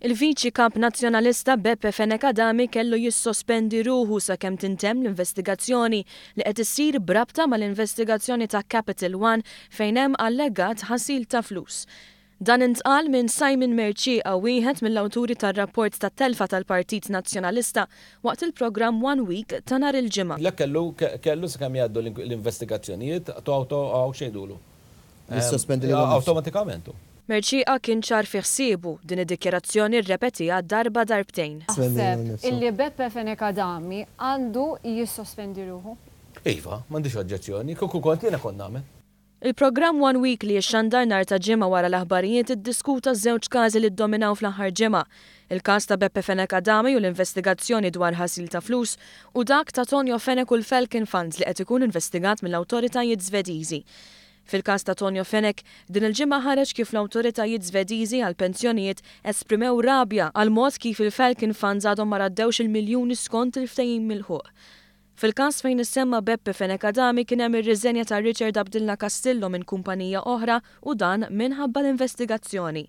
Il-Viċi Kap Nazzjonalista Beppe Fenech Adami kellu jissospendi ruħu sakemm tintemm l-investigazzjoni li qed issir b'rabta mal-investigazzjoni ta' Capital One fejn hemm allegat ħasil ta' flus. Dan intqal minn Simon Mercieca, wieħed mill-awturi tar-rapport tat-telfa tal-Partit Nazzjonalista waqt il-programm One Week ta' nhar il-Ġimgħa. Le kellu kellu sakemm jgħaddu l-investigazzjonijiet to awto x'jgħidulu? Jissospendi lilu nnifsu. Awtomatikament hu. Mercieca kien ċar fi ħsiebu, din id-dikjarazzjoni rrepetiha darba darbtejn. Taħseb illi Beppe Fenech Adami għandu jissospendi ruħu? Iva, m'għandix oġġezzjoni. Kieku kont jiena kont nagħmel. Il-programm One Week li jixxandar nhar ta' Ġimgħa wara l-aħbarijiet iddiskuta żewġ każi li ddominaw fl-aħħar ġimgħa, il-każ ta' Beppe Fenech Adami u l-investigazzjoni dwar ħasil ta' flus u dak ta' Tonio Fenech u l-Falcon Funds li qed ikun investigat mill-awtoritajiet Żvediżi. Fil-każ ta' Tonio Fenech, din il-ġimgħa ħareġ kif l-awtoritajiet Żvediżi għall-pensjonijiet esprimew rabja għall-mod kif il-Falcon Funds għadhom ma raddewx il-miljuni skont il-ftehim milħuq. Fil-każ fejn issemma Beppe Fenech Adami kien hemm ir-riżenja ta' Richard Abdilla Castillo minn kumpanija oħra u dan minħabba l-investigazzjoni.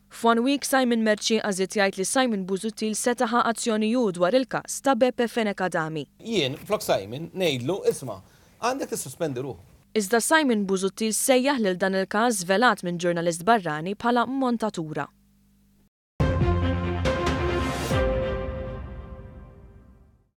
F'One Week Simon Mercieca żied jgħid li Simon Busuttil seta' ħa azzjoni hu dwar il-każ ta' Beppe Fenech Adami. Jien, flok Simon, ngħidlu, isma', għandek tissospendi ruħu. Iżda Simon Busuttil sejjaħ lil dan il-każ żvelat minn ġurnalist barrani bħala montatura.